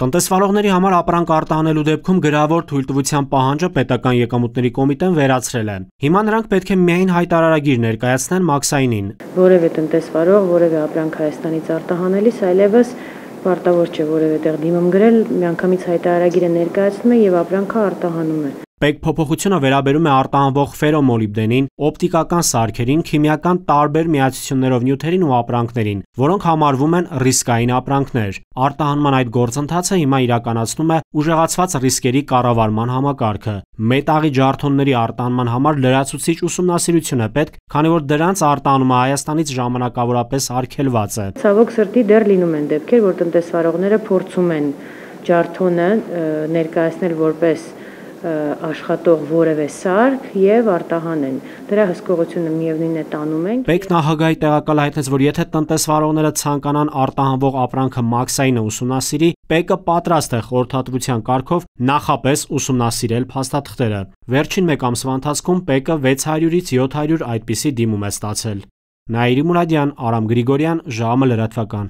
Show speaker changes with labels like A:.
A: Տնտեսվարողների համար ապրանք արտահանելու դեպքում գրավոր թույլտվության պահանջը պետական եկամուտների կոմիտեն վերացրել է։ Հիմա նրանք պետք է միայն հայտարարագիր ներկայացնեն մաքսայինին։
B: Որևէ տնտեսվարող, որևէ ապրանք Հայաստանից արտահանելիս այլևս պարտավոր չէ որևէ տեղ դիմում գրել, միանգամից հայտարարագիրը ներկայացնում է եւ ապրանքը արտահանում է։
A: Պետք փոփոխությունը վերաբերում է արտահանվող ֆերոմոլիբդենին, օպտիկական սարքերին, քիմիական տարբեր միացություններով նյութերին ու ապրանքներին, որոնք համարվում են ռիսկային ապրանքներ։ Արտահանման այդ գործընթացը հիմա իրականացնում է ուժեղացված ռիսկերի կառավարման համակարգը։ Մետաղի ջարդոնների արտահանման համար լրացուցիչ ուսումնասիրություն է պետք, քանի որ դրանց արտահանումը Հայաստանից ժամանակավորապես արգելված է։
B: Ցավոք սրտի դեռ լինում են դեպքեր, որ տնտեսվարողները փորձում են ջարդոնը ներկայացնել որպես աշխատող որևէ սարք եւ արտահանեն։ Դրա հսկողությունը միևնույն է տանում ենք։
A: Պետք նախագահի տեղակալ հայտնեց, որ եթե տնտեսվարողները ցանկանան արտահանվող ապրանքը մաքսայինը ուսումնասիրի, ՊԵԿ-ը պատրաստ է խորհրդատվության կարգով նախապես ուսումնասիրել փաստաթղթերը։ Վերջին մեկ ամսվա ընթացքում ՊԵԿ-ը 600-ից 700 այդպիսի դիմում է ստացել։ Նաիրի Մուրադյան, Արամ Գրիգորյան, ԺԱՄ լրատվական։